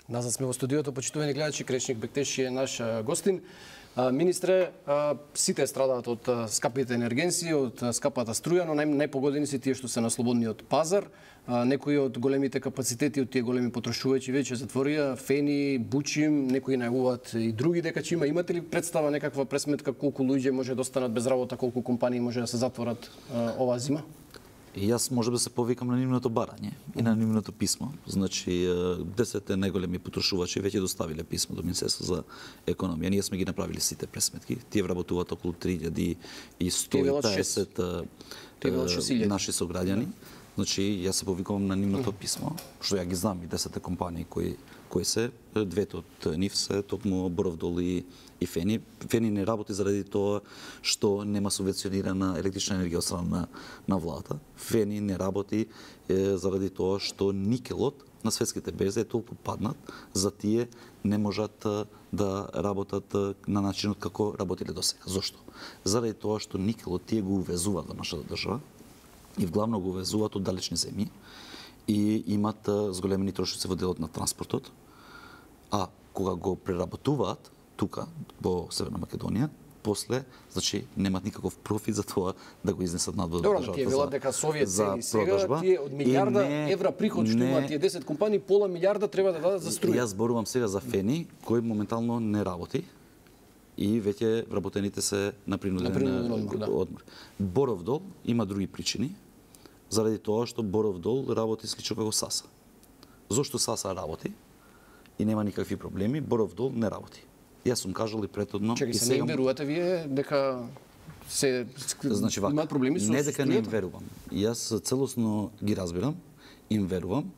Назад сме во студиото, почитувани гледачи, Кречник Бектеши е наш гостин. Министре, сите страдаат од скапите енергенси, од скапата струја, но најпогодени се тие што се на слободниот пазар. Некои од големите капацитети од тие големи потрошувачи веќе затворија, Фени, Бучим, некои најавуваат и други дека ќе има. Имате ли представа, некаква пресметка колку луѓе може да останат без работа, колку компании може да се затворат оваа зима? И јас може да се повикам на нивното барање и на нивното писмо. Значи, 10 најголеми потрошувачи веќе доставиле писмо до Министерство за економија. Ние сме ги направили сите пресметки. Тие вработуваат околу 3150 наши сограѓани. Значи, јас се повикувам на нивното писмо, што ја ги знам и 10 компании кои се, двете од нив се токму Боровдол и Фени. Фени не работи заради тоа што нема субвенционирана електрична енергија од страна на владата. Фени не работи заради тоа што никелот на светските берзи е толку паднат, за тие не можат да работат на начинот како работиле досега. Зошто? Заради тоа што никелот тие го увезуваат во нашата држава и вглавно го увезуваат од далечни земји и имат зголемени трошоци во делот на транспортот, а кога го преработуваат тука во Северна Македонија, после, значи, немат никаков профит за тоа да го изнесат надвор од државата. Добро, тие велат дека Совет цени сега, тие од милиарда евра приход што имаат тие 10 компании, пола милиарда треба да дадат за струја. Јас зборувам сега за Фени, кој моментално не работи и веќе вработените се на принуден одмор. Боровдол има други причини, заради тоа што Боровдол работи слично како САСА. Зошто САСА работи и нема никакви проблеми, Боровдол не работи. Јас сум кажал и претhodно и сега не им верувате вие дека се значи, имаат проблеми со не дека не им верувам. Јас целосно ги разбирам, им верувам,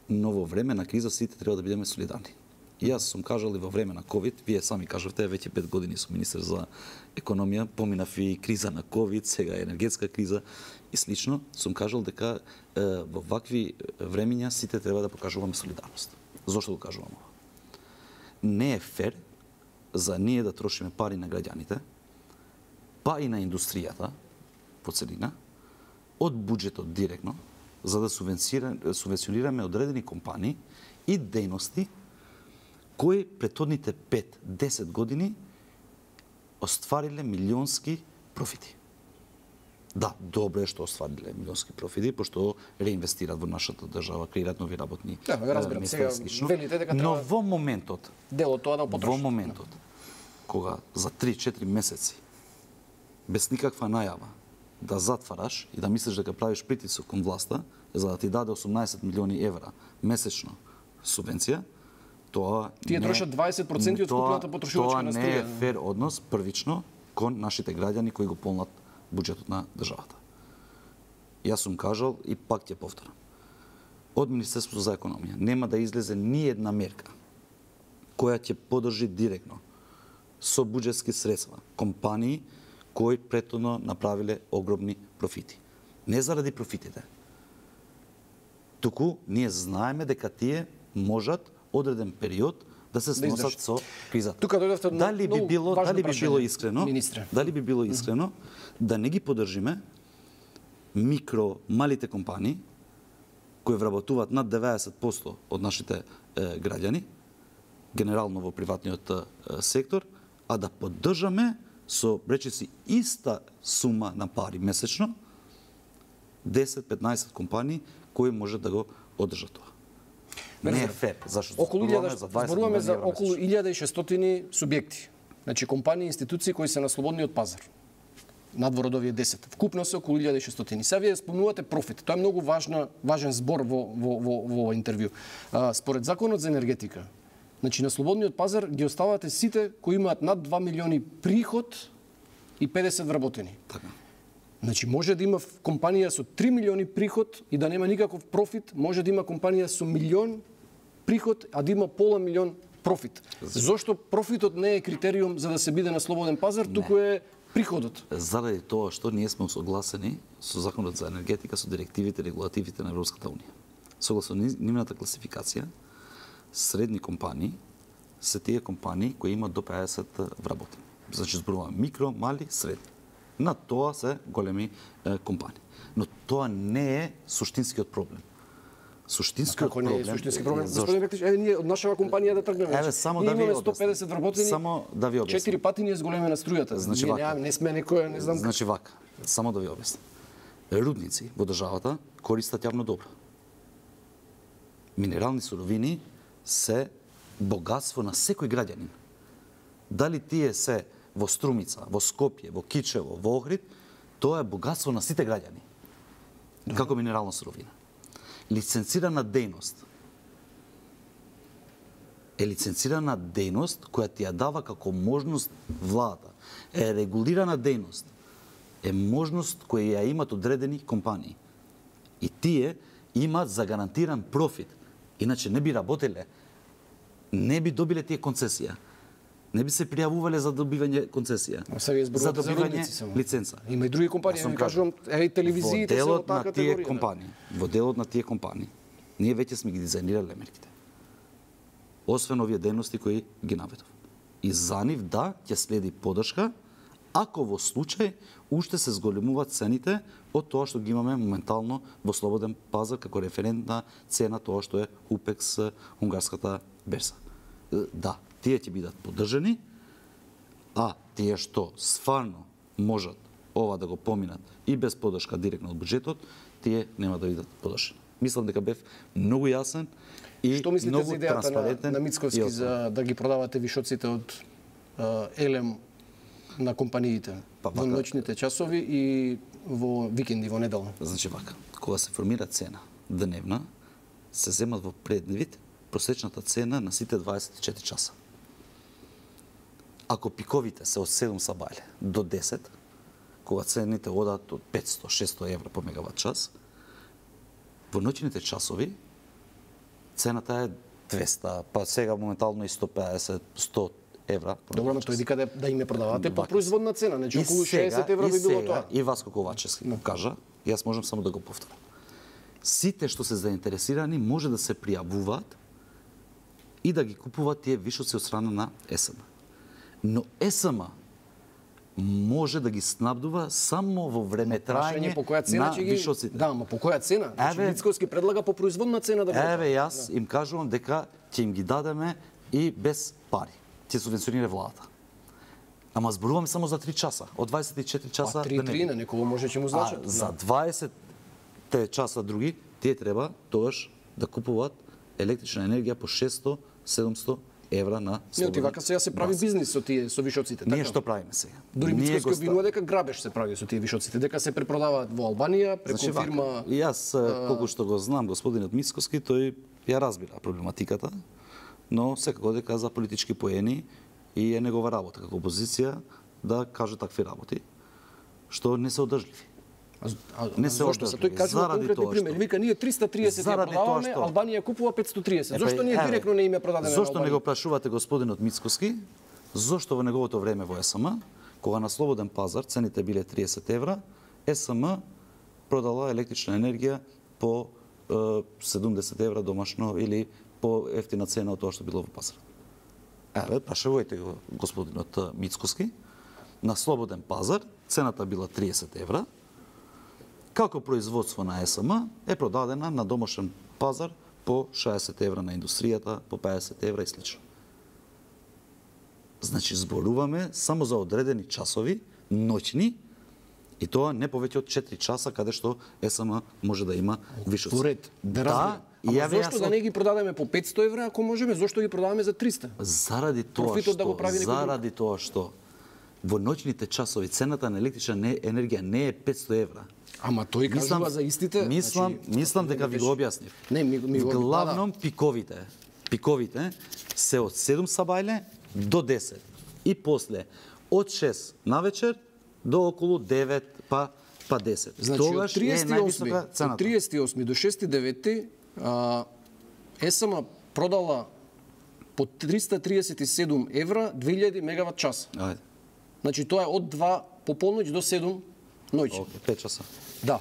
но во време на криза сите треба да бидеме солидарни. Јас сум кажал и во време на ковид, вие сами кажавте, веќе 5 години сум министер за економија, поминав и криза на ковид, сега енергетска криза и слично, сум кажал дека во вакви времиња сите треба да покажуваме солидарност. Зошто го кажувам ова? Не е фер за ние да трошиме пари на граѓаните, па и на индустријата по целина, од буџетот директно, за да субвенционираме одредени компании и дејности кои претhodните 5-10 години оствариле милионски профити. Да, добро е што оствариле милионски профити, пошто реинвестираат во нашата држава, креираат нови работни места. Но во моментот, во моментот, кога за 3-4 месеци, без никаква најава, да затвараш и да мислиш дека правиш притисок кон власта, за да ти даде 18 милиони евра месечно субвенција, тоа тие трошат 20% од купната потрошувачка на струја. Тоа не е фер однос првично кон нашите граѓани кои го полнат буџетот на државата. Јас сум кажал и пак ќе повторам. Од Министерството за економија нема да излезе ни една мерка која ќе поддржи директно со буџетски средства компании кои претhodно направиле огромни профити. Не заради профитите. Туку ние знаеме дека тие можат одреден период да се сносат со кризата. Тука дојдовте дали би било искрено, министре. Дали би било искрено да не ги поддржиме малите компании кои вработуваат над 90% од нашите граѓани, генерално во приватниот сектор, а да поддржаме со речиси иста сума на пари месечно 10-15 компании кои може да го одржат тоа. Не е фер, зашто зборуваме за околу 1600 субјекти. Значи компании и институции кои се на слободниот пазар. Надвор од овие 10. Вкупно се околу 1600. Сега вие спомнувате профит. Тоа е многу важен збор во интервју. Според законот за енергетика, значи на слободниот пазар ги оставате сите кои имаат над 2 милиони приход и 50 вработени. Така. Значи може да има компанија со 3 милиони приход и да нема никаков профит, може да има компанија со милион приход, а да има пола милион профит. Зошто профитот не е критериум за да се биде на слободен пазар, туку е приходот? Заради тоа што ние сме согласени со законот за енергетика, со директивите, регулативите на Европската унија. Согласно нивната класификација, средни компании се тие компании кои имаат до 50 вработени. Значи зборуваме микро, мали, средни. На тоа се големи компании. Но тоа не е суштинскиот проблем. Суштинскиот Како не е проблем. суштински проблем? Господин Бектич, ние од нашава компанија да тргнеме. Еве, само ние да ви имаме објаснам. 150 вработени. Само да ви објаснам. 4 пати ние зголемена струјата. Значи ние вака. не сме некоја, не знам. Значи вака, само да ви објаснам. Рудници во државата користат јавно добро. Минерални суровини се богатство на секој граѓанин. Дали тие се во Струмица, во Скопје, во Кичево, во Охрид, тоа е богатство на сите граѓани. Како минерална суровина. Лиценцирана дејност е лиценцирана дејност која ти ја дава како можност владата. Е регулирана дејност е можност која ја имат одредени компании. И тие имаат загарантиран профит. Иначе не би работеле, не би добиле тие концесија. Не би се пријавувале за добивање концесија. За добивање лиценца. Има и други компании, ја кажувам, и телевизиите се од таа категорија. Во делот на тие компании, ние веќе сме ги дизајнирале мерките. Освен овие дејности кои ги наведов. И за нив да ќе следи поддршка, ако во случај уште се зголемуваат цените од тоа што ги имаме моментално во слободен пазар како референтна цена тоа што е УПЕКС унгарската берза. Да, тие ќе бидат поддржани, а тие што стварно можат ова да го поминат и без поддршка директно од буџетот, тие нема да бидат поддржани. Мислам дека бев многу јасен и што мислите многу за идејата транспарентен. на Мицковски за да ги продавате вишоците од елем на компаниите во ноќните часови и во викенди, во неделя? Значи вака, кога се формира цена дневна, се земат во предвид просечната цена на сите 24 часа. Ако пиковите се од 7 сабајле до 10, кога цените одат од 500-600 евра по мегават час, во ноќните часови цената е 200, па сега моментално и 150-100 евра. Добро, но тој вика да им продавате по производна цена, значи околу 60 евра би било тоа. И Васко Ковачевски кажа, јас можам само да го повторам. Сите што се заинтересирани може да се пријавуваат и да ги купуваат тие вишоци од страна на ЕСМ. Но ЕСМ може да ги снабдува само во време трајање на вишоците. Да, ама по која цена? Значи Мицковски предлага по производна цена да го. Еве јас им кажувам дека ќе им ги дадеме и без пари. Ќе субвенционира владата. Ама зборуваме само за 3 часа. Од 24 часа па, 3 на некого може ќе му значат. За 20 часа други, тие треба тогаш да купуваат електрична енергија по 600-700 евра на слободен. Не, вака сега се прави бизнис со тие со вишоците, така? Ние што правиме сега? Дури Мицковски обвинува дека грабеж се прави со тие вишоците, дека се препродаваат во Албанија преку фирма. И јас колку што го знам господинот Мицковски, тој ја разбира проблематиката, но секако дека за политички поени и е негова работа како опозиција да каже такви работи што не се одржливи. Не се зошто се тој кажува конкретни примери. Вика ние 330 ја продаваме, Албанија купува 530. Зошто ние директно не име продадеме? Зошто не го прашувате господинот Мицковски? Зошто во неговото време во ЕСМ, кога на слободен пазар цените биле 30 евра, ЕСМ продала електрична енергија по 70 евра домашно или по ефтина цена од тоа што било во пазар. Еве, прашувајте го господинот Мицковски. На слободен пазар цената била 30 евра. Како производство на ЕСМ е продадена на домашен пазар по 60 евра на индустријата, по 50 евра и слично. Значи, зборуваме само за одредени часови, ноќни, и тоа не повеќе од 4 часа, каде што ЕСМ може да има вишоци. Поред, да разберам. Ама зошто да не ги продадеме по 500 евра, ако можеме, зошто ги продаваме за 300? Заради тоа што во ноќните часови цената на електрична енергија не е 500 евра. Ама тој кажува за истите. Мислам дека ви го објаснив. Не, ми го главном пиковите се од 7 сабајле до 10 и после од 6 навечер до околу 9 па 10. Значи, од 38 до 6.9 ЕСМ продала по 337 евра 2000 мегават час. Ајде. Значи тоа е од 2 по полноќ до 7 ноќ. 5 часа. Да.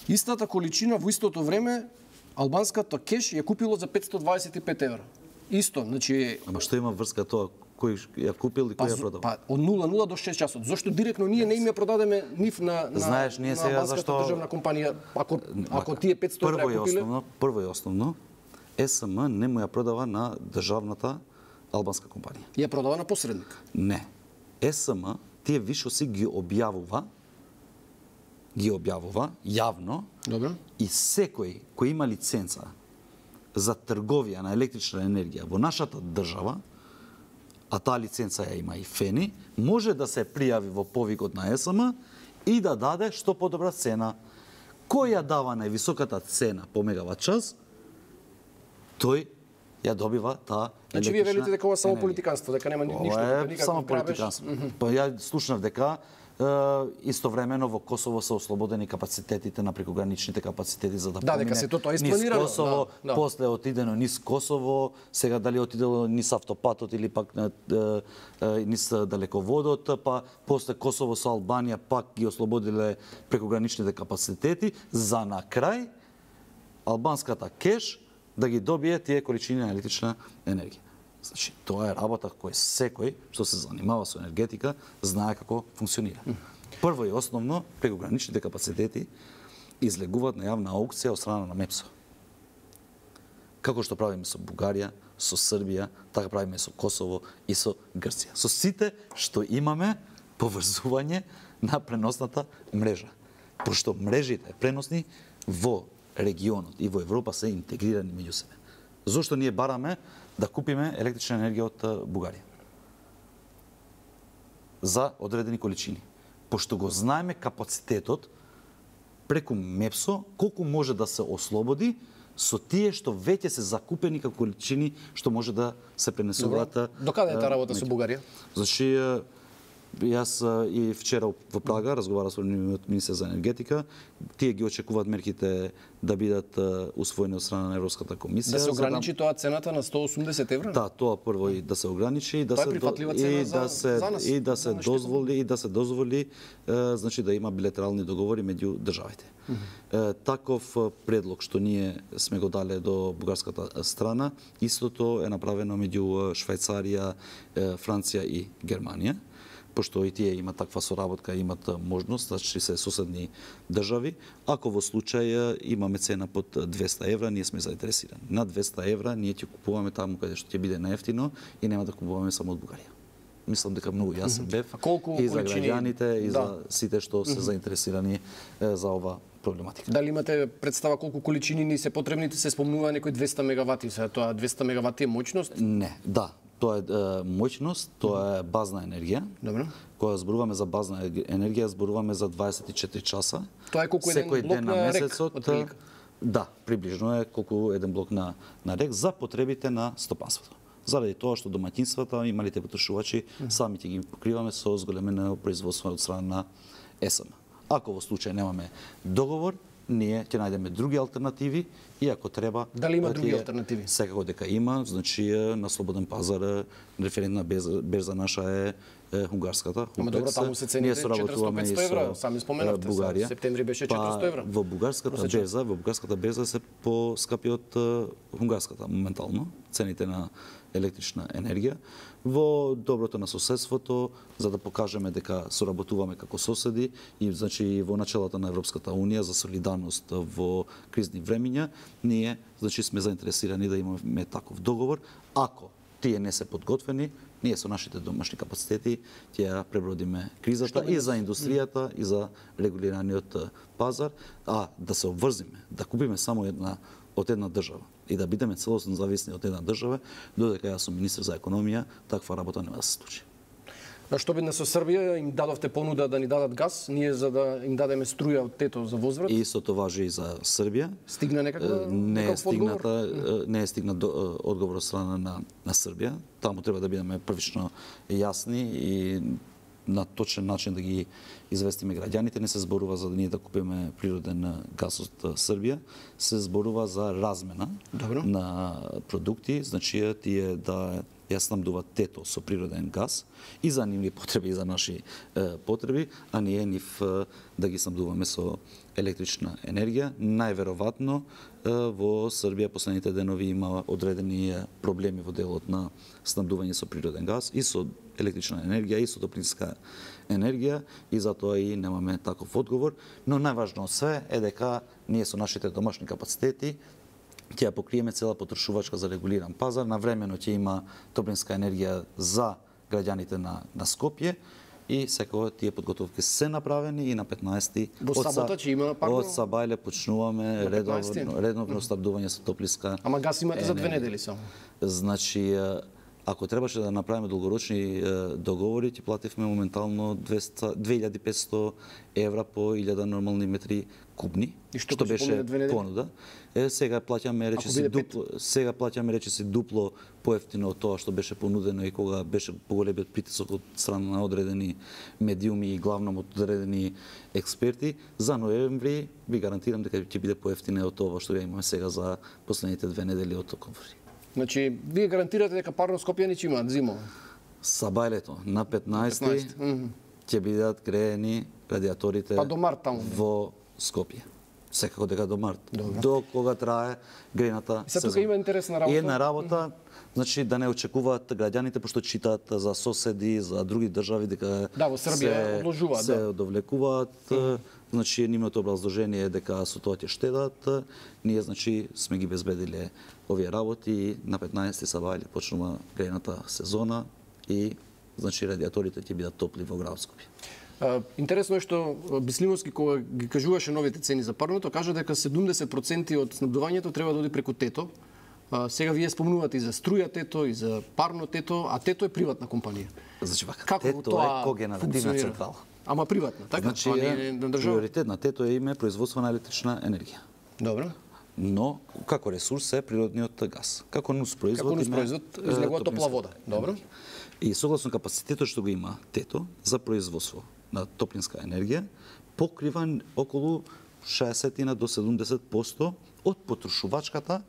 Истата количина во истото време албанската кеш ја купило за 525 евра. Исто, значи... Ама што има врска тоа кој ја купил и кој ја продал. Па од 00 до 6 часот. Зошто директно ние не им ја продадеме нив на Знаеш, ние сега зашто државна компанија, ако тие 500 евра ја купиле? Прво и основно, СМ не му ја продава на државната албанска компанија. Ја продава на посредник. Не. СМ тие вишоси ги објавува јавно. Добро. И секој кој има лиценца за трговија на електрична енергија во нашата држава, а таа лиценца ја има и ФЕНИ, може да се пријави во повикот на СМ и да даде што подобра цена. Кој ја дава највисоката цена по мегават час, тој ја добива таа електрична. Значи вие велите дека ова само политиканство, дека нема ништо, никаков само политиканство. Па ја слушнав дека истовремено во Косово се ослободени капацитетите на прекограничните капацитети за да дека се тоа е испланирано. Низ Косово, после отидено низ Косово, сега дали отидело низ автопатот или пак низ далеководот, па после Косово со Албанија пак ги ослободиле прекограничните капацитети, за на крај албанската кеш да ги добие тие количини на електрична енергија. Значи, тоа е работа кој секој што се занимава со енергетика знае како функционира. Прво и основно, прекограничните капацитети излегуваат на јавна аукција од страна на МЕПСО. Како што правиме со Бугарија, со Србија, така правиме со Косово и со Грција. Со сите што имаме поврзување на преносната мрежа. Пошто мрежите преносни во регионот и во Европа се интегрирани меѓу себе. Зошто ние бараме да купиме електрична енергија од Бугарија? За одредени количини. Пошто го знаеме капацитетот преку МЕПСО, колку може да се ослободи со тие што веќе се закупени како количини што може да се пренесуваат. Докаде е таа работа со Бугарија? Значи, јас и вчера во Прага разговарав со министер за енергетика. Тие ги очекуваат мерките да бидат усвоени од страна на Европската комисија. Да се ограничи тоа цената на 180 евра? Да, тоа прво и да се ограничи и да се дозволи значи да има билатерални договори меѓу државите. Таков предлог што ние сме го дале до бугарската страна, истото е направено меѓу Швајцарија, Франција и Германија. Пошто и тие имат таква соработка, имат можност, значи се соседни држави. Ако во случај имаме цена под 200 евра, ние сме заинтересирани. На 200 евра ние ќе купуваме таму каде што ќе биде најефтино и нема да купуваме само од Бугарија. Мислам дека многу јасен бев и за граѓаните и за сите што се заинтересирани за ова проблематика. Дали имате представа колку количини ни се потребни? Се спомнува некои 200 мегавати, сега тоа 200 мегавати е моќност? Не, да. Тоа е моќност, тоа е базна енергија. Добро. Кога зборуваме за базна енергија, зборуваме за 24 часа. Тоа е колку еден блок на РЕК? Да, приближно е колку еден блок на РЕК за потребите на стопанството. Заради тоа што домаќинствата и малите потрошувачи сами ќе ги покриваме со зголемено производство од страна на СМ. Ако во случај немаме договор, ние ќе најдеме други алтернативи и ако треба... Дали има други алтернативи? Секако дека има, значи на слободен пазар референтна берза наша е унгарската. Ама добро, таму се цените 400-500 евра, сами споменавте, Бугарија. Септември беше 400 евра. Во бугарската берза се поскапи од унгарската моментално, цените на електрична енергија. Во доброто на соседството, за да покажеме дека соработуваме како соседи и значи во началото на Европската унија за солидарност во кризни времиња, ние значи сме заинтересирани да имаме таков договор. Ако тие не се подготвени, ние со нашите домашни капацитети ќе ја пребродиме кризата и за индустријата и за регулираниот пазар, а да се обврзиме, да купиме само од една држава и да бидеме целосно зависни од една држава, додека јас сум министер за економија, таква работа нема да се случи. Што бидна со Србија, им дадовте понуда да ни дадат газ, ние за да им дадеме струја од тето за возврат? И истото важи и за Србија. Стигна некаква не е стигнат одговор од страна на Србија. Таму треба да бидеме првично јасни и на точен начин да ги известиме граѓаните. Не се зборува за да ние да купиме природен газ од Србија, се зборува за размена на продукти, значи тие да ја снабдува тето со природен газ и за нивни потреби и за наши потреби, а ние нив да ги снабдуваме со електрична енергија. Најверојатно во Србија последните денови има одредени проблеми во делот на снабдување со природен газ и со електрична енергија и со топлинска енергија и затоа и немаме таков одговор, но најважно од све е дека ние со нашите домашни капацитети ќе ја покриеме цела потрошувачка за регулиран пазар, навремено ќе има топлинска енергија за граѓаните на Скопје и секој тие подготовки се направени и на 15-ти од Сабајле почнуваме редовно снабдување со топлинска енергија. Ама газ имате за 2 недели само. Значи, ако требаше да направиме долгорочни договори, ќе плативме моментално 2500 евра по 1000 нормални метри кубни, што беше понуда. Сега плаќаме речиси дупло поевтино од тоа што беше понудено и кога беше поголемиот притисок од страна на одредени медиуми и главном од одредени експерти. За ноември ви гарантирам дека ќе биде поевтине од тоа што ја имаме сега за последните 2 недели од октомври. Значи, вие гарантирате дека парно Скопјани ќе имаат зимо? Сабајлето на 15 ќе бидат греени радиаторите во Скопје. Секако дека до март. До кога трае грејната сезона. Тука има интересна работа. И една работа, значи да не очекуваат граѓаните, пошто читаат за соседи, за други држави дека во Србија одложуваат, се одовлекуваат. Значи нивното образложение е дека со тоа ќе штедат. Ние значи сме ги безбедиле овие работи и на 15 Сабајле почнува грејната сезона и значи радиаторите ќе бидат топли во град Скопје. Интересно е што Бислимовски кога ги кажуваше новите цени за парното, кажа дека 70% од снабдувањето треба да оди преку тето. Сега вие спомнувате и за струја тето, и за парно тето, а тето е приватна компанија. Значи вака, тето е когенеративна централа. Ама приватна, така? Значи, приоритет на тето е име производство на електрична енергија. Добро. Но како ресурс е природниот газ. Како нуспроизвод из неговата топла вода. Добро. И согласно капацитетот што го има тето за производство на топлинска енергија, покрива околу 60 до 70% од потрошувачката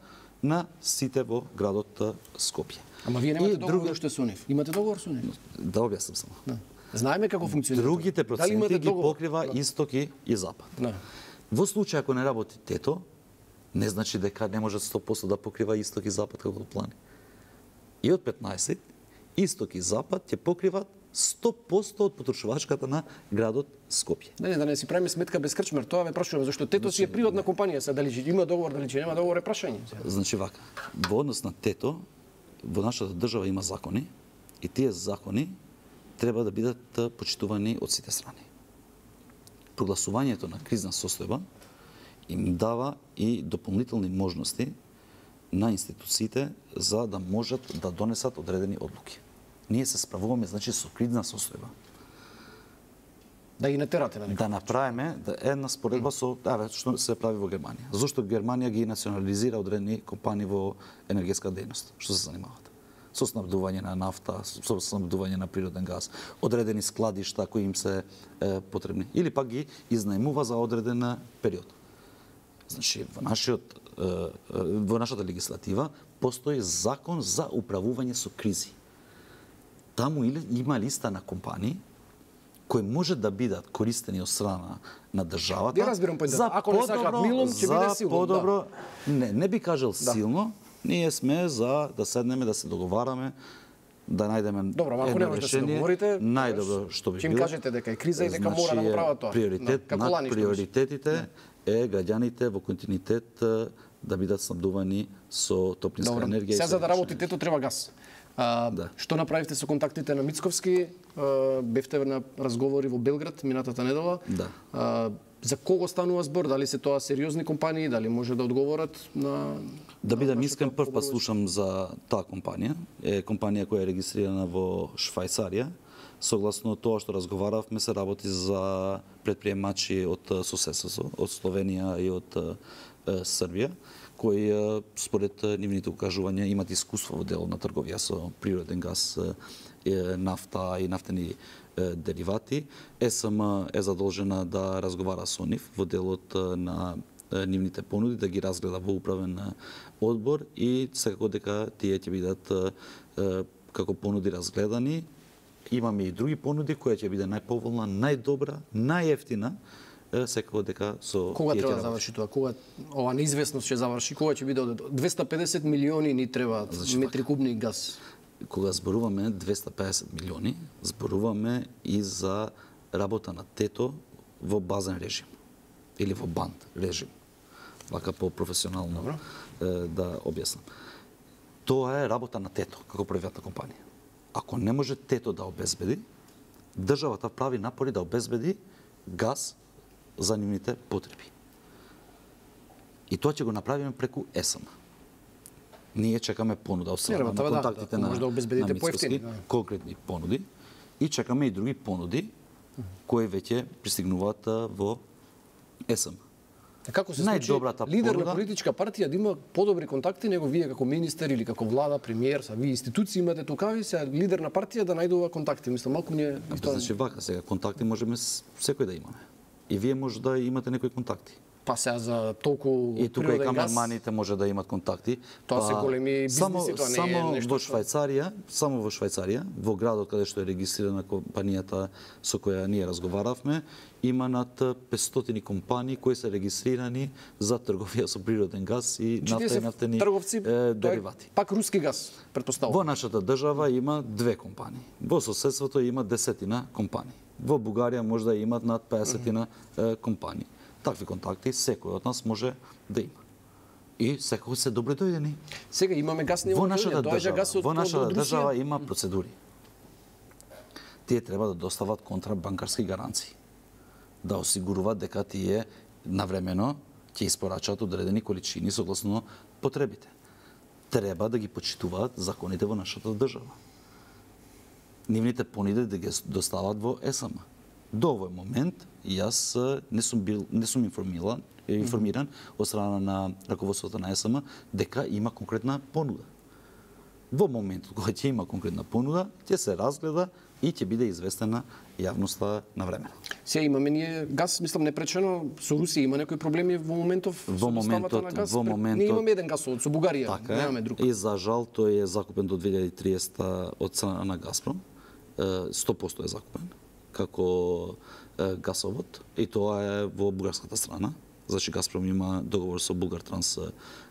на сите во градот Скопје. Ама вие немате договор уште со нив? Имате договор со нив? Да објаснам само. Знаеме како функционира. Другите проценти ги покрива исток и запад. Во случај ако не работи тето, не значи дека не може 100% да покрива исток и запад како плани. И од 15 исток и запад ќе покриват 100% од потрошувачката на градот Скопје. Да не си правиме сметка без крчмар, тоа ве прашуваме зашто тето си е приватна компанија, се дали има договор, дали нема договор е прашање. Значи вака, во однос на тето, во нашата држава има закони и тие закони треба да бидат почитувани од сите страни. Прогласувањето на кризна состојба им дава и дополнителни можности на институциите за да можат да донесат одредени одлуки. Ние се справуваме значи со кризна состојба. Да ги натерате на некој. Да направиме една споредба со што се прави во Германија. Зошто Германија ги национализира одредени компании во енергетска дејност, што се занимаваат со снабдување на нафта, со снабдување на природен газ, одредени складишта кои им се потребни или пак ги изнаемува за одреден период. Значи во нашата легислатива постои закон за управување со кризи. Таму има листа на компании кои може да бидат користени од страна на државата. Не разбирам појдата. Ако не сакаат милом, ќе биде силно. Подобро, не би кажал силно. Ние сме за да седнеме, да се договараме, да најдеме едно решение. Најдобро што би било. Ќе им кажете дека е криза и дека мора да го прават тоа. Приоритет над приоритетите е граѓаните во континуитет да бидат снабдувани со топлинска енергија. Сега за да работи тето треба газ. Што направивте со контактите на Мицковски? Бевте на разговори во Белград минатата недела. За кого станува збор? Дали се тоа сериозни компании? Дали може да одговорат на... Да бидам искрен, прв пат слушам за таа компанија. Е компанија која е регистрирана во Швајцарија. Согласно тоа што разговаравме, се работи за предприемачи од соседството, од Словенија и од Србија, кои според нивните укажувања имат искуство во делот на трговија со природен газ, нафта и нафтени деривати. ЕСМ е задолжена да разговара со нив во делот на нивните понуди, да ги разгледа во управен одбор и секако дека тие ќе бидат како понуди разгледани. Имаме и други понуди која ќе биде најповолна, најдобра, најевтина, секако дека со кога треба да заврши тоа? Кога ова неизвестност ќе заврши? Кога ќе биде 250 милиони ни требаат метри кубни газ? Кога зборуваме 250 милиони, зборуваме и за работа на тето во базен режим или во банд режим. Вака по-професионално да објаснам. Тоа е работа на тето како приватна компанија. Ако не може тето да обезбеди, државата прави напори да обезбеди газ за нивните потреби. И тоа ќе го направиме преку ЕСМ. Ние чекаме понуда од страна на контактите на Мицкоски, конкретни понуди, и чекаме и други понуди кои веќе пристигнуваат во ЕСМ. Како се случи лидер на политичка партија да има подобри контакти него вие како министер или како влада, премиер, са вие институции имате тукави, се лидер на партија да најдува контакти. Мислам малку не Значи вака сега контакти можеме секој да имаме. И вие може да имате некои контакти. Па сега за толку и тука и камерманите може да имат контакти. Тоа се големи бизниси, тоа не е нешто. Само во Швајцарија, во градот каде што е регистрирана компанијата со која ние разговаравме, има над 500 компании кои се регистрирани за трговија со природен газ и нафта и нафтени деривати. Пак руски газ, претпоставувам. Во нашата држава има 2 компании. Во соседството има 10 компании. Во Бугарија може да имат над 50 компании. Такви контакти секој од нас може да има. И секој се добре дојдени. Сега имаме газ, не може да во нашата држава има процедури. Тие треба да достават контрабанкарски гаранции. Да осигуруваат дека тие навремено ќе испорачаат одредени количини согласно потребите. Треба да ги почитуваат законите во нашата држава. Нивните понуди да ги достават во ЕСМ. До овој момент јас не сум информиран од страна на раководството на ЕСМ дека има конкретна понуда. Во моментот кога ќе има конкретна понуда, ќе се разгледа и ќе биде известена јавноста на време. Сега имаме ние газ, мислам непречено, со Русија има некои проблеми во моментов со доставата на газ. Ние имаме еден газовод со Бугарија, немаме друг. И за жал тој е закупен до 2030 од страна на Газпром. 100% е закупен како газовод и тоа е во бугарската страна. Значи Газпром има договор со Булгартранс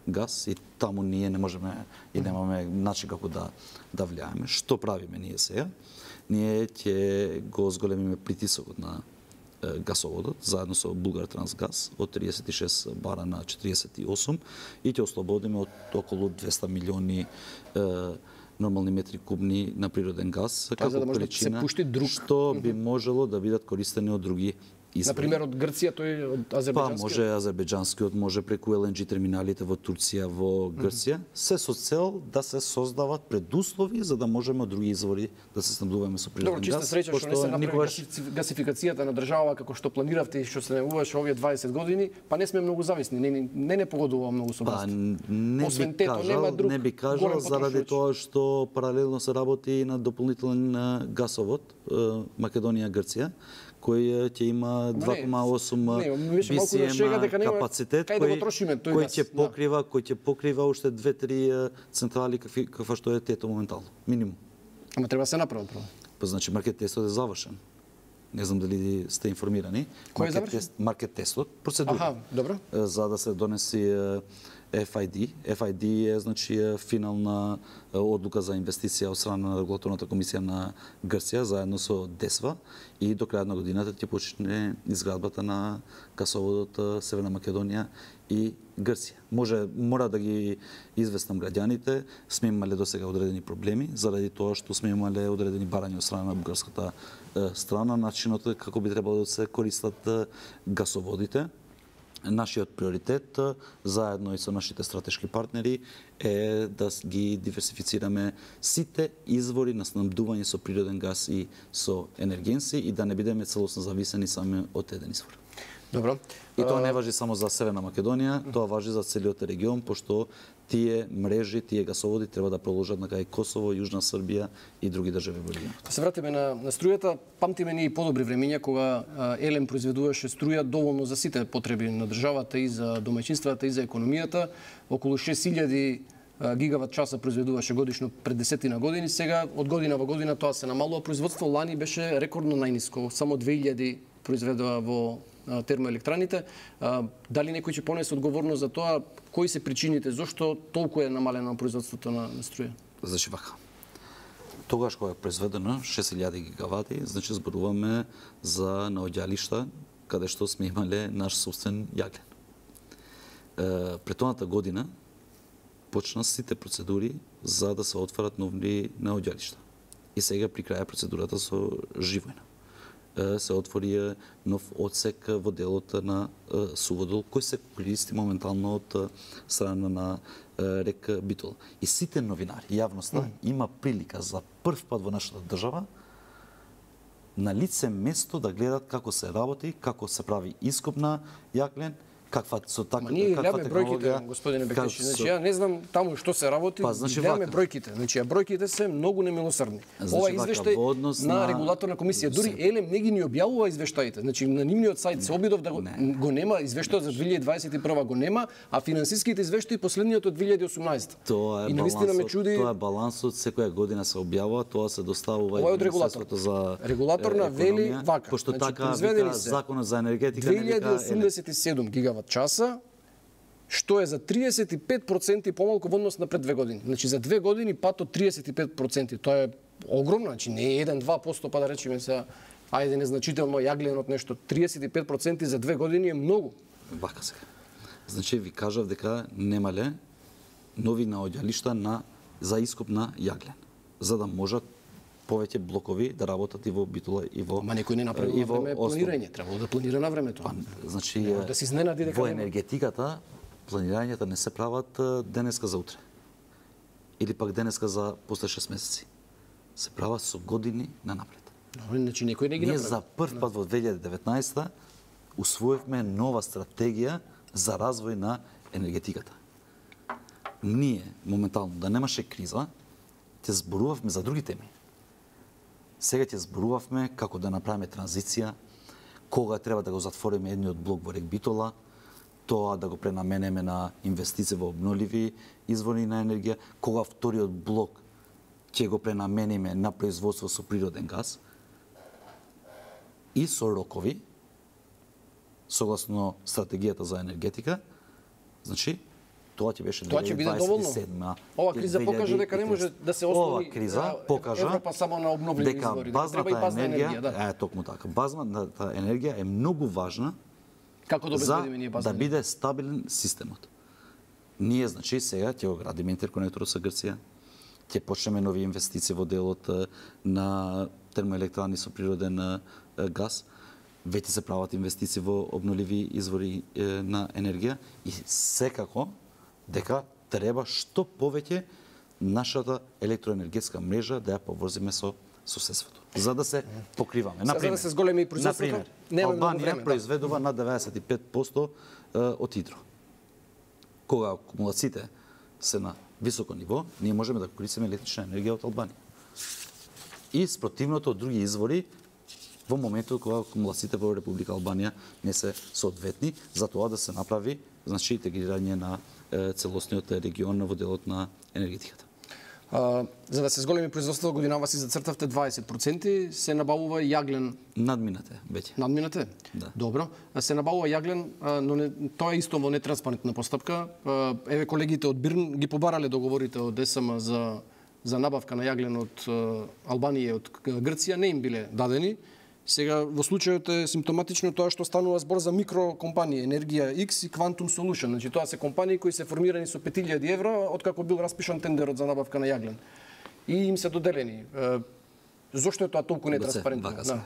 газ и таму ние не можеме и немаме начин како да влијаеме. Што правиме ние сега? Ние ќе го зголемиме притисокот на газоводот заедно со Булгартранс газ од 36 бара на 48 и ќе ослободиме од околу 200 милиони нормални метри кубни на природен газ како количина што би можело да бидат користени од други извори. Например, од Грција, тој од азербејџанскиот? Па, може азербејџанскиот, може преку ЛНГ терминалите во Турција, во Грција, се со цел да се создават предуслови за да можеме од други извори да се снабдуваме со природен газ. Добро, чиста среќа што не се направи гасификацијата на држава како што планиравте и што се најавуваше овие 20 години, па не сме многу зависни, не погодува многу со газ. Не би кажал заради тоа што паралелно се работи на дополнителен гасовод Македонија-Грција, кој ќе има 2,8 BCM капацитет, кој ќе покрива уште 2-3 централи каква што е тето моментално, минимум. Ама треба се направи прво. Па значи маркет тестот е завршен. Не знам дали сте информирани. Кој е завршен? Маркет тестот, процедура. Добро. За да се донеси FID. FID е значи финална одлука за инвестиција од страна на регулаторната комисија на Грција заедно со ДЕСВА и до крајот на годината ќе почне изградбата на гасоводот Северна Македонија и Грција. Мора да ги известам граѓаните, сме имале досега одредени проблеми заради тоа што сме имале одредени барања од страна на бугарската страна, начинот како би требало да се користат гасоводите. Нашиот приоритет, заедно и со нашите стратешки партнери, е да ги диверсифицираме сите извори на снабдување со природен газ и со енергенси и да не бидеме целосно зависени само од еден извор. Добро. И тоа не важи само за Северна Македонија, тоа важи за целиот регион, пошто тие мрежи, тие гасоводи треба да продолжат на кај Косово, Јужна Србија и други држави во регионот. Да се вратиме на струјата, памтиме ние и подобри времиња кога ЕЛЕМ произведуваше струја доволно за сите потреби на државата и за домаќинствата и за економијата, околу 6000 гигават часа произведуваше годишно пред 10 години, сега од година во година тоа се намалува. Производство лани беше рекордно најниско, само 2000 произведува во термоелектраните. Дали некој ќе понесе одговорност за тоа? Кои се причините? Зошто толку е намалено производството на струја? Значи вака. Тогаш кога е произведено 6000 гигавати, значи зборуваме за наоѓалишта каде што сме имале наш собствен јаглен. Претоната година почна сите процедури за да се отварат нови наоѓалишта. И сега при крај процедурата со Живојна се отвори нов одсек во делот на Суводол, кој се користи моментално од страна на река Битола. И сите новинари, јавноста, има прилика за прв пат во нашата држава на лице место да гледат како се работи, како се прави ископ на јаглен, каква со така ние гледаме бројките, господине Бектеши. Значи ја не знам таму што се работи, гледаме бројките. Значи бројките се многу немилосрдни. Ова извештај на регулаторна комисија, дури Елем не ги ни објавува извештаите. Значи на нивниот сајт се обидов да го нема, извештајот за 2021 го нема, а финансиските извештаи последниот од 2018. Тоа е балансот, тоа е балансот, секоја година се објавува, тоа се доставува и Министерството за регулаторна вели вака. Пошто така вика законот за енергетика 2087 гигават часа, што е за 35% помалку во однос на пред 2 години. Значи за 2 години пат од 35%. Тоа е огромно, значи не е 1-2%, па да речеме сега, ајде незначително јагленот нешто. 35% за 2 години е многу. Вака сега. Значи ви кажав дека немале нови наоѓалишта за ископ на јаглен, за да можат повеќе блокови да работат и во Битола и во Ма некој не направи на време планирање, требало да планира на времето. Значи да се изненади дека во енергетиката планирањата не се прават денеска за утре. Или пак денеска за после 6 месеци. Се прават со години на напред. Значи некој не ги направи. Ние за прв пат во 2019 усвоивме нова стратегија за развој на енергетиката. Ние моментално да немаше криза, ќе зборувавме за други теми. Сега ќе зборувавме како да направиме транзиција, кога треба да го затвориме едниот блок во рек Битола, тоа да го пренаменеме на инвестиции во обновливи извори на енергија, кога вториот блок ќе го пренамениме на производство со природен газ и со рокови, согласно стратегијата за енергетика, значи тоа ќе беше 2027. Ова криза покажа дека не може да се ослони. Ова криза покажа Европа само на обновливи извори, дека треба и базна енергија, да. Токму така. Базната енергија е многу важна како да обезбедиме ние базна да биде стабилен системот. Ние значи сега ќе го градиме интерконекторот со Грција, ќе почнеме нови инвестиции во делот на термоелектрани со природен газ. Веќе се прават инвестиции во обновливи извори на енергија и секако дека треба што повеќе нашата електроенергетска мрежа да ја поврзиме со соседството, за да се покриваме. За да се зголеми производството, Албанија произведува на 95% од хидро. Кога акумулациите се на високо ниво, ние можеме да користиме електрична енергија од Албанија. И спротивното од други извори во моментот кога акумулациите во Република Албанија не се соодветни, за тоа да се направи значи интегрирање на целосниот регион во делот на енергетиката. За да се зголеми производството, годинава си зацртавте 20%, се набавува јаглен. Надминате веќе. Надминате? Да. Добро. Се набавува јаглен, но тоа е исто во нетранспарентна постапка. Еве колегите од Бирн ги побарале договорите од ДСМ за набавка на јаглен од Албанија и од Грција, не им биле дадени. Сега во случајот е симптоматично тоа што станува збор за микрокомпании, Енергија X и Quantum Solution. Значи тоа се компании кои се формирани со 5000 евро откако бил распишан тендерот за набавка на јаглен. И им се доделени. Зошто е тоа толку нетранспарентно? Да.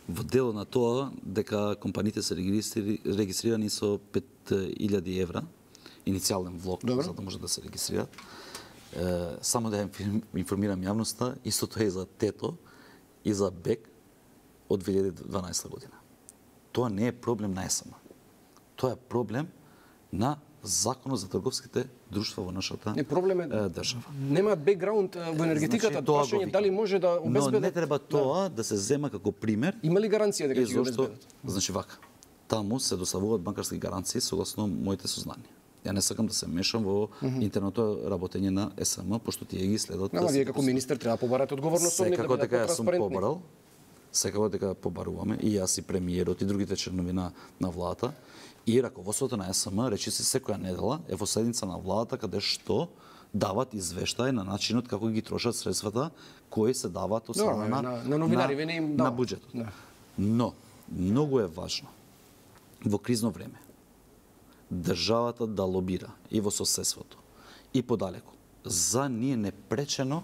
Во дело на тоа дека компаниите се регистрирани со 5000 евра, иницијален влог, за да може да се регистрираат. Само да информирам јавноста, истото е и за Тето и за БЕК од 2012 година. Тоа не е проблем на ЕСМ. Тоа е проблем на Законот за трговските друштва во нашата држава. Нема бекграунд во енергетиката, прашање дали може да обезбедат. Но не треба тоа да се зема како пример. Има ли гаранција дека ќе го обезбедат? Значи вака, таму се доставуваат банкарски гаранции согласно моите сознанија. Ја не сакам да се мешам во интерното работење на СМ, пошто тие ги следат. Ама вие како министер треба да побарате одговорност од нив да бидат потранспарентни. Секако дека побаруваме и јас и премиерот и другите членови на владата и раководството на СМ речиси секоја недела е во седница на владата каде што дават извештај на начинот како ги трошат средствата кои се даваат од страна на новинари, вене им на буџетот. Но многу е важно во кризно време државата да лобира и во соседството и подалеку за ние непречено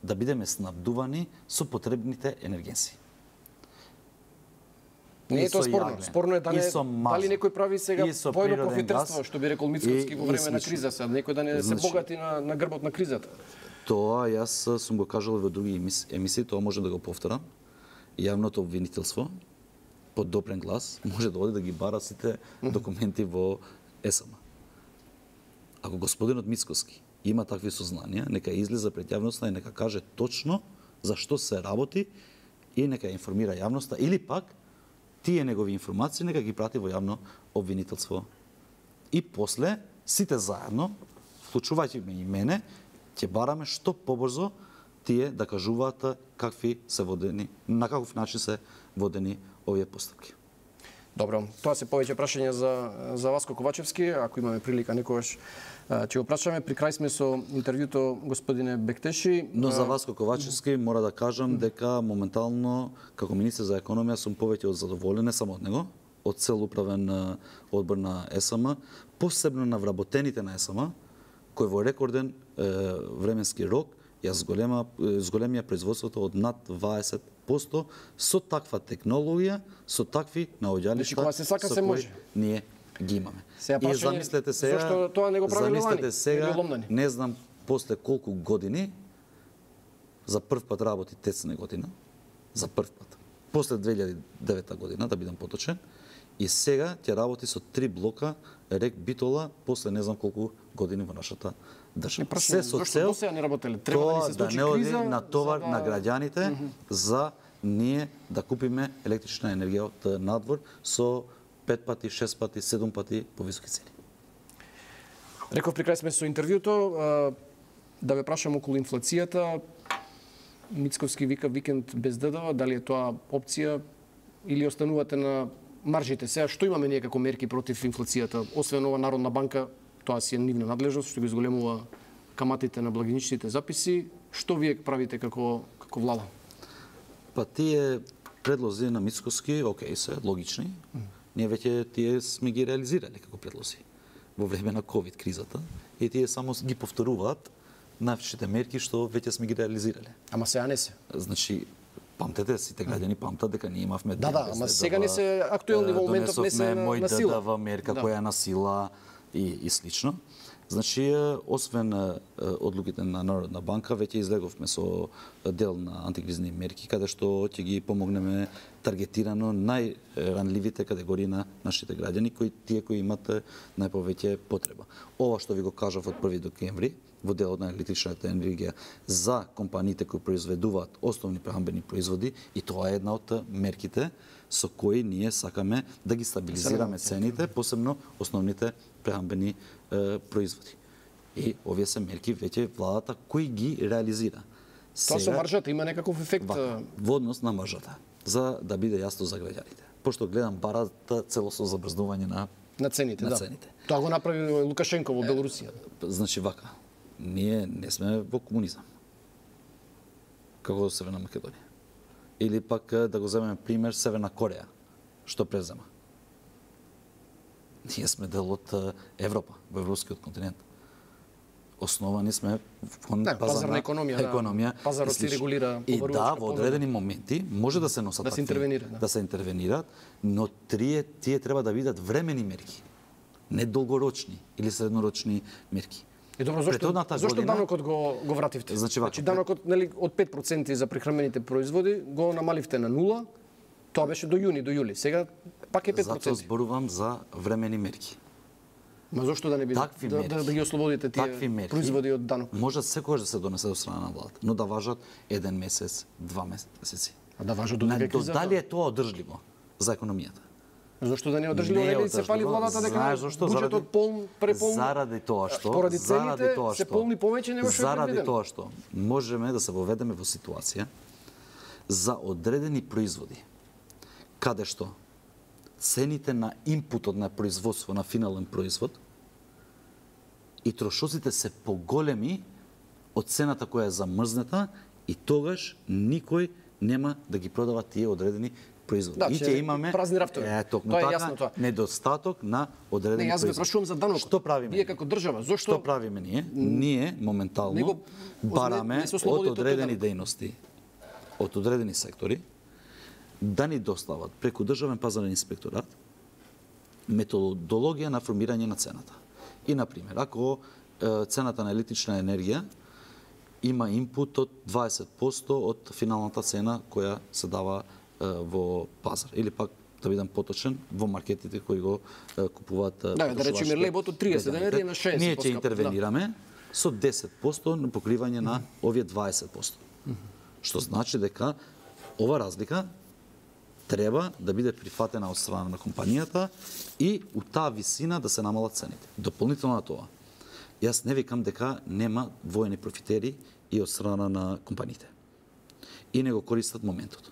да бидеме снабдувани со потребните енергенси. Не е тоа спорно. Спорно е дали некој прави сега војно профитерство, што би рекол Мицкоски во време на криза, сега некој да не се богати на грбот на кризата. Тоа јас сум го кажал во други емисии, тоа може да го повторам. Јавното обвинителство под допрен глас може да оди да ги бара сите документи во СМ. Ако господинот Мицкоски има такви сознанија, нека излезе пред јавноста и нека каже точно за што се работи и нека информира јавноста или пак тие негови информации нека ги прати во јавно обвинителство. И после сите заедно, вклучувајќи ме и мене, ќе бараме што побрзо тие да кажуваат какви се водени, на каков начин се водени овие постапки. Добро, тоа се повеќе прашања за Васко Ковачевски, ако имаме прилика некогаш ќе го прашаме. При крај сме со интервјуто господине Бектеши. Но за Васко Ковачевски мора да кажам дека моментално како министер за економија сум повеќе од задоволен, не само од него, од цел управен одбор на СМ, посебно на вработените на СМ, кој во рекорден временски рок ја зголемија производството од над 20% со таква технологија, со такви наоѓалишта. Кога се сака се може. Ние ги имаме. И замислете сега, зашто тоа не го правило лани? Не знам после колку години за прв пат работи тецна година, за прв пат. После 2009 година, да бидам поточен, и сега ќе работи со 3 блока рек Битола после не знам колку години во нашата држава. Се со цел тоа да не оди на товар на граѓаните за ние да купиме електрична енергија од надвор со 5 пати, 6 пати, 7 пати повисоки цени. Реков при крај сме со интервјуто, да ве прашам околу инфлацијата. Мицковски вика викенд без ДДВ, дали е тоа опција или останувате на маржите? Сега што имаме ние како мерки против инфлацијата? Освен ова Народна банка, тоа си е нивна надлежност, што ги зголемува каматите на благиничните записи. Што вие правите како влада? Па тие предлози на Мицковски, окей се, логични. Ние веќе тие сме ги реализирали како предлози во време на ковид кризата и тие само ги повторуваат највшите мерки што веќе сме ги реализирали. Ама сега не се. Значи, памтете, сите граѓани памтат дека ние имавме ама сега не се актуелни во моментот, не се на сила. ДДВ мерка која е на сила и слично. Значи, освен одлуките на Народна банка, веќе излеговме со дел на антикризни мерки, каде што ќе ги помогнеме таргетирано најранливите категории на нашите граѓани, тие кои имат најповеќе потреба. Ова што ви го кажав од 1 декември, во делот на електричната енергија за компаниите кои произведуваат основни прехранбени производи, и тоа е една од мерките со кои ние сакаме да ги стабилизираме цените, посебно основните прехранбени производи. И овие се мерки веќе владата кои ги реализира. Тоа со маржата има некаков ефект во однос на маржата, за да биде јасно за граѓаните. Пошто гледам барата целосно забрзнување на цените, да. Тоа го направи Лукашенко во Белорусија. Значи вака, ние не сме во комунизам, како Северна Македонија. Или пак да го земеме пример Северна Кореја, што презема. Ние сме дел од Европа, во европскиот континент. Основани сме кон пазарна економија. Пазарот се регулира и да, во одредени моменти може да се носат да се интервенираат, но тие треба да бидат времени мерки, не долгорочни или среднорочни мерки. И добро, зошто данокот го вративте? Значи данокот од 5% за прехранбените производи го намаливте на 0. Тоа беше до јуни, до јули. Сега пак е 5%. Затоа зборувам за времени мерки. Ма зошто да не биде да ги ослободите тие производи од данок? Може секогаш да се донесе до страна на владата, но да важат 1 месец, 2 месеци. А да важат до некоја криза? Дали е тоа одржливо за економијата? Зошто да не одржливо нели се фали владата дека буџетот преполн заради тоа што поради цените се полни повеќе него што е заради предвидено. тоа што можеме да се воведеме во ситуација за одредени производи каде што цените на импутот на производство на финален производ и трошоците се поголеми од цената која е замрзнета и тогаш никој нема да ги продава тие одредени производи. Да, и ќе имаме празни рафтови. токму Тоа е така јасно тоа. недостаток на одредени Не, јас ве производи. прашувам за данокот. Што правиме? Вие како држава, зошто Што правиме ние? Ние моментално Него бараме не се од ослободите од одредени тој дејности, од одредени сектори, да ни достават преку државен пазарен инспекторат методологија на формирање на цената. И, например, ако цената на електрична енергија има инпут од 20% од финалната цена која се дава во пазар. Или пак, да бидам поточен, во маркетите кои го купуваат да речеме лебот од 30 денари на 60. Ние ќе интервенираме со 10% на покривање на овие 20%. Што значи дека ова разлика треба да биде прифатена од страна на компанијата и у таа висина да се намалат цените. Дополнително на тоа, јас не викам дека нема воени профитери и од страна на компаниите. И не го користат моментот.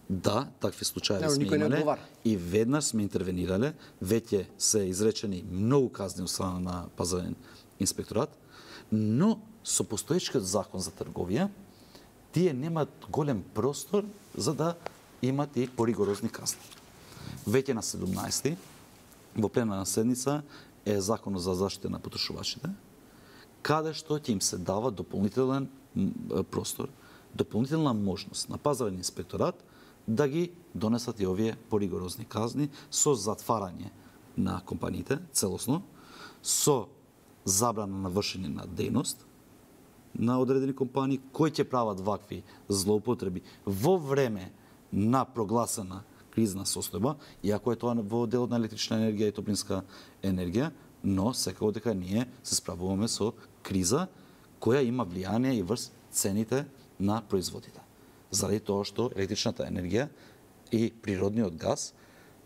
Да, такви случаи сме имале и веднаш сме интервенирале, веќе се изречени многу казни од страна на пазарен инспекторат, но со постоечкиот закон за трговија, тие немаат голем простор за да имат и поригорозни казни. Веќе на 17 во пленарна седница е законот за заштита на потрошувачите, каде што ќе им се дава дополнителен простор, дополнителна можност на пазарен инспекторат да ги донесат и овие поригорозни казни со затварање на компаниите целосно, со забрана на вршење на дејност на одредени компании кои ќе прават вакви злоупотреби во време на прогласена кризна состојба, иако е тоа во делот на електрична енергија и топлинска енергија, но секако дека ние се справуваме со криза која има влијание и врз цените на производите. Заради тоа што електричната енергија и природниот газ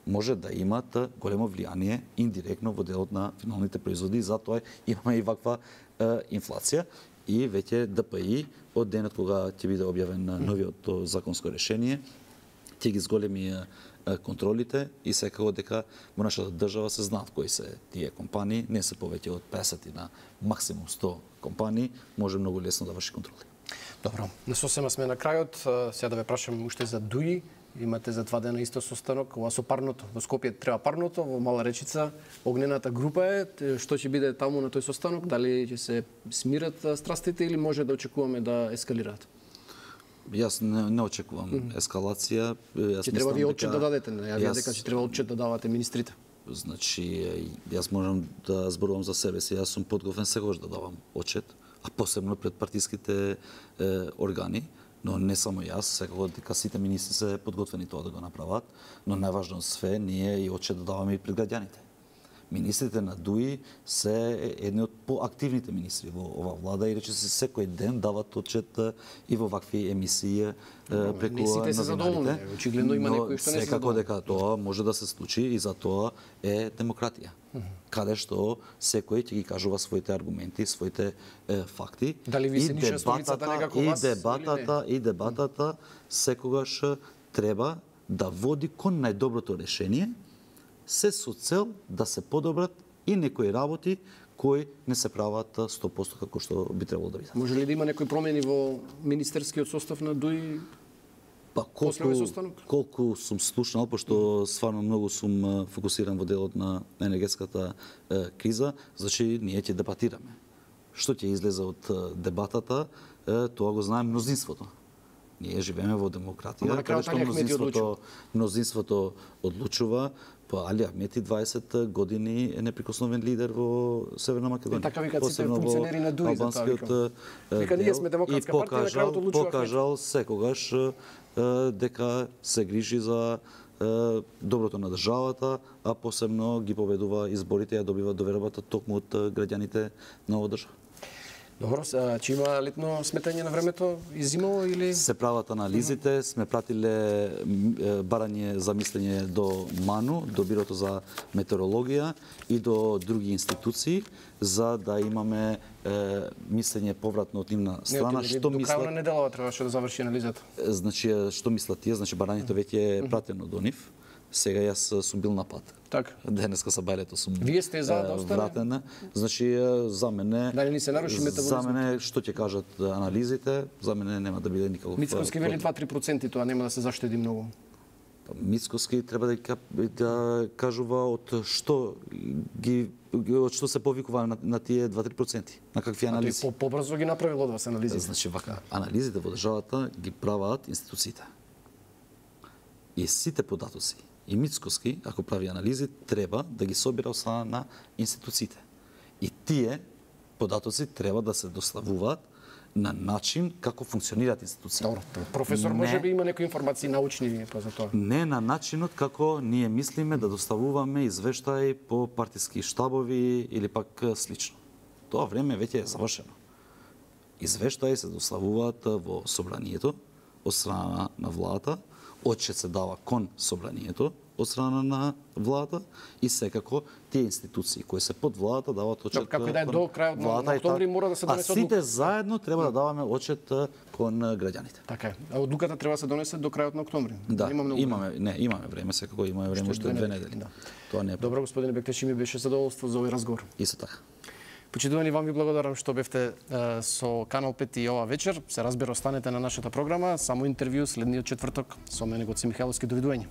може да имат големо влијание индиректно во делот на финалните производи, затоа имаме и ваква инфлација. И веќе ДПИ од денот кога ќе биде објавен новиот законско решение, ќе ги зголеми контролите и секако дека во нашата држава се знаат кои се тие компании, не се повеќе од 50 на максимум 100 компании, може многу лесно да врши контроли. Добро, на сосема сме на крајот. Сега да ве прашам уште за ДУИ. Имате за 2 дена исто состанок, ова со парното. Во Скопје треба парното, во Мала Речица огнената група е. Што ќе биде таму на тој состанок? Дали ќе се смират страстите или може да очекуваме да ескалираат? Јас не очекувам ескалација. Ќе треба вие отчет да дадете, ја видам дека ќе треба отчет да давате министрите. Значи, јас можам да зборувам за себе си, јас сум подготвен секогаш да давам отчет, а посебно пред партиските органи, но не само јас, секако дека сите министри се подготвени тоа да го направат, но најважно од све ние и отчет да даваме и пред граѓаните. Министрите на ДУИ се едни од поактивните министри во ова влада и рече се секој ден дават отчет и во вакви емисии преку не сите се задоволни, очигледно има некои што не се секако дека тоа може да се случи и за тоа е демократија. Каде што секој ќе ги кажува своите аргументи, своите факти. Дали ви се ниша столицата некако вас и дебатата секогаш треба да води кон најдоброто решение, се со цел да се подобрат и некои работи кои не се прават 100% како што би требало да бидат. Може ли да има некои промени во министерскиот состав на ДУИ? Па колку сум слушнал, пошто стварно многу сум фокусиран во делот на енергетската криза, значи ние ќе дебатираме. Што ќе излезе од дебатата, тоа го знае мнозинството. Ние живееме во демократија, каде што мнозинството одлучува. Па Али Ахмети 20 години е неприкосновен лидер во Северна Македонија. Така викаат сите функционери на ДУИ за тоа викам. Вика ние сме демократска партија, на крајот одлучува. Покажал секогаш дека се грижи за доброто на државата, а посебно ги победува изборите и ја добива довербата токму од граѓаните на оваа држава. Добро, че има летно сметање на времето и зимово или се прават анализите, сме пратиле барање за мислење до МАНУ, до Бирото за метеорологија и до други институции за да имаме мислење повратно од нивна страна што мислат. До крај на неделава требаше да заврши анализата. Значи што мислат тие, значи барањето веќе е пратено до нив. Сега јас сум бил на пат. Така. Денеска са бајлето сум. Вие сте за да остане? Вратена. Значи за мене дали ни се наруши метаболизмот? За мене што ќе кажат анализите, за мене нема да биде никаков. Мицкоски вели 2-3%, тоа нема да се заштеди многу. Мицкоски треба да кажува од што се повикува на тие 2-3%. На какви анализи? А тој побрзо ги направил од вас анализите. Значи вака, анализите во државата ги прават институциите. И сите податоци и Мицкоски, ако прави анализи, треба да ги собира од страна на институциите. И тие податоци треба да се доставуваат на начин како функционираат институциите. Добро, професор може би има некои информации научни па за тоа. Не на начинот како ние мислиме да доставуваме извештаи по партиски штабови или пак слично. Тоа време веќе е завршено. Извештаи се доставуваат во собранието од страна на владата, отчет се дава кон собранието од страна на владата и секако тие институции кои се под владата дават отчет. Како и да е до крајот на октомври мора да се донесе одлука. А сите заедно треба да даваме отчет кон граѓаните. Така е. А одлуката треба да се донесе до крајот на октомври. Да, имаме време, секако имаме време уште 2 недели. Да. Тоа не е. Добро, господине Бектеши, ми беше задоволство за овој разговор. Исто така. Почитувани, вам ви благодарам што бевте со Канал 5 и ова вечер. Се разбира, останете на нашата програма. Само интервју следниот четврток со мене Гоце Михайловски. Довидување.